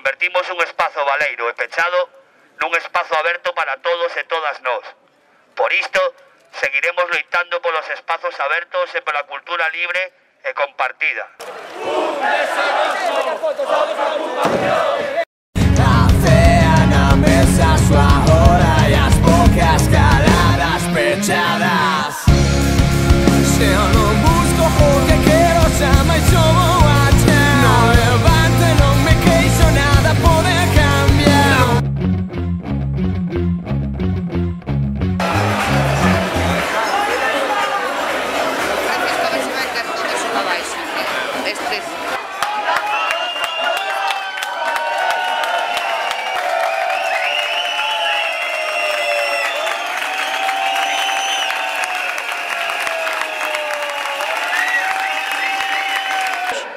convertimos un espazo baleiro e pechado nun espazo aberto para todos e todas nós. Por isto, seguiremos loitando polos espazos abertos e pola cultura libre e compartida. Café na mesa, súa hora e as bocas caladas pechadas. Se eu non busco o que quero, xa máis xo vou achar. Non levante, non me queixo, nada pode cambiar. Francisco, a ver se vai caer todo eso para baixo. Estes...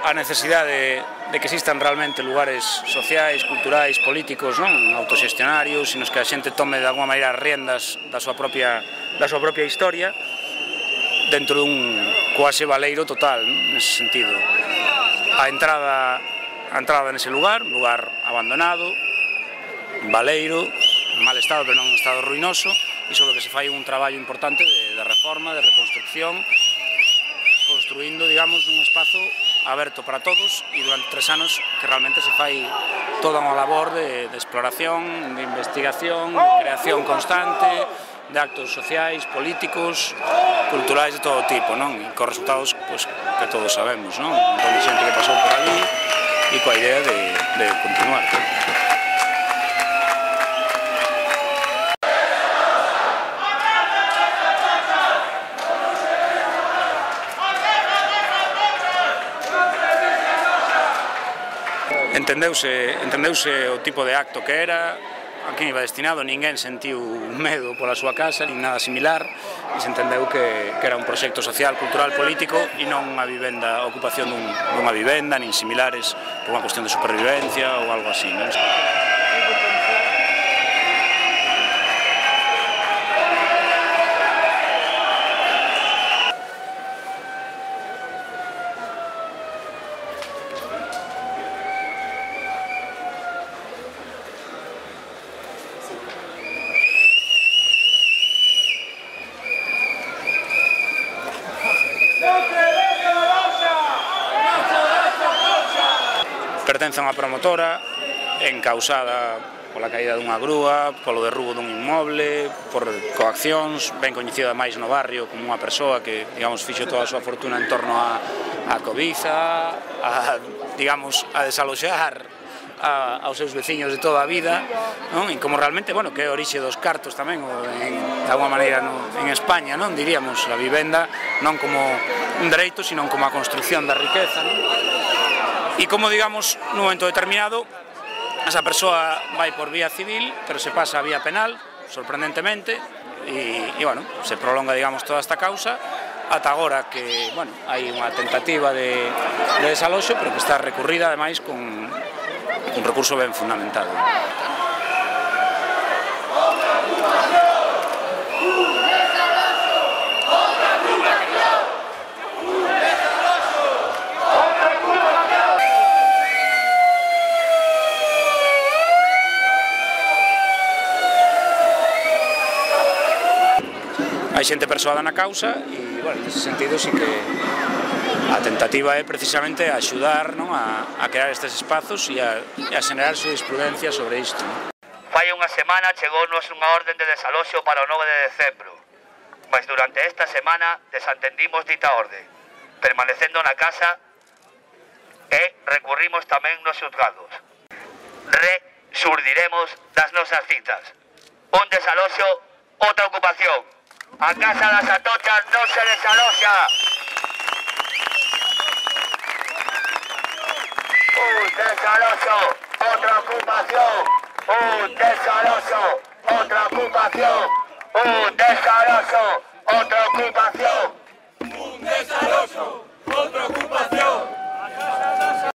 A necesidade de que existan realmente lugares sociais, culturais, políticos, non autoxestionarios, nos que a xente tome de alguma maneira as riendas da súa propia historia dentro dun cuase baleiro total, nese sentido. A entrada nese lugar, un lugar abandonado, baleiro, en mal estado, pero non en estado ruinoso, e sobre o que se fai un traballo importante de reforma, de reconstrucción, construindo, digamos, un espazo aberto para todos e durante 3 anos que realmente se fai toda unha labor de exploración, de investigación, de creación constante, de actos sociais, políticos, culturais de todo tipo, non? E con resultados pues, que todos sabemos, non? Con xente que pasou por ali e coa idea de continuar. Entendeuse o tipo de acto que era, a quen iba destinado, ninguén sentiu medo pola súa casa, nin nada similar, e se entendeu que era un proxecto social, cultural, político, e non unha vivenda, a ocupación dunha vivenda, nin similares, por unha cuestión de supervivencia ou algo así, non? Pertence a unha promotora encausada pola caída dunha grúa, polo derrubo dun inmoble, por coaccións, ben coñecida máis no barrio como unha persoa que, digamos, fixo toda a súa fortuna en torno á cobiza, digamos, a desaloxar aos seus veciños de toda a vida, non? E como realmente, bueno, que é a orixe dos cartos tamén, de alguma maneira en España, non? Diríamos, a vivenda non como un dereito, sino como a construcción da riqueza, non? E como, digamos, nun momento determinado, esa persoa vai por vía civil, pero se pasa a vía penal, sorprendentemente, e bueno, se prolonga, digamos, toda esta causa, ata agora que, bueno, hai unha tentativa de desaloxo, pero que está recurrida, ademais, con un recurso ben fundamentado. Hai xente persoada na causa e, bueno, nese sentido, sí que a tentativa é precisamente axudar, non, a crear estes espazos e a xenerar xurisprudencia sobre isto, non? Fai unha semana chegounos unha orden de desaloxo para o 9 de decembro, mas durante esta semana desatendimos dita orde, permanecendo na casa e recurrimos tamén nos xuzgados. Resurdiremos das nosas citas. Un desaloxo, outra ocupación. A Casa das Atochas non se desaloxa. Un desaloxo, outra ocupación. Un desaloxo, outra ocupación. Un desaloxo, outra ocupación. Un desaloxo.